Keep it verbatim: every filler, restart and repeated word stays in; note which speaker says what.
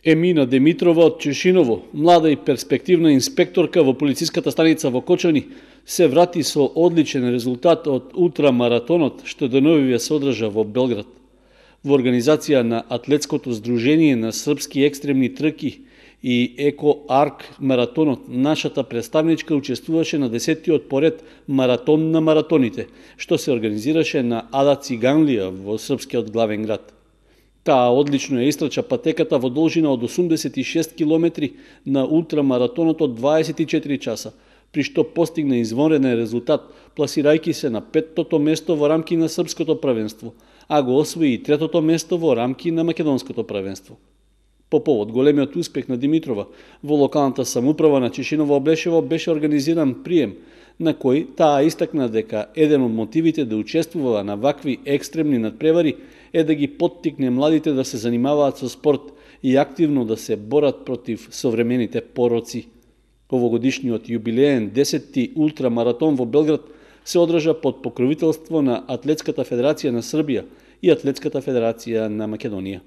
Speaker 1: Емина Димитрова од Чешиново, млада и перспективна инспекторка во полициската станица во Кочани, се врати со одличен резултат од ултрамаратонот што деновиве се одржа во Белград. Во организација на Атлетското здружение на српски екстремни трки и Еко Арк маратонот, нашата представничка учествуваше на десеттиот поред маратон на маратоните, што се организираше на Ада Циганлија во српскиот главен град. Таа одлично ја истрча патеката во должина од осумдесет и шест километри на ултрамаратонот од дваесет и четири часа, при што постигна извонреден резултат, пласирајќи се на петтото место во рамки на српското првенство, а го освои и третото место во рамки на македонското првенство. По повод големиот успех на Димитрова, во локалната самоуправа на Чешиново Облешево беше организиран прием, на кој таа истакна дека еден од мотивите да учествува на вакви екстремни надпревари е да ги поттикне младите да се занимаваат со спорт и активно да се борат против современите пороци. Овогодишниот јубилеен десетти ултрамаратон во Белград се одржа под покровителство на Атлетската федерација на Србија и Атлетската федерација на Македонија.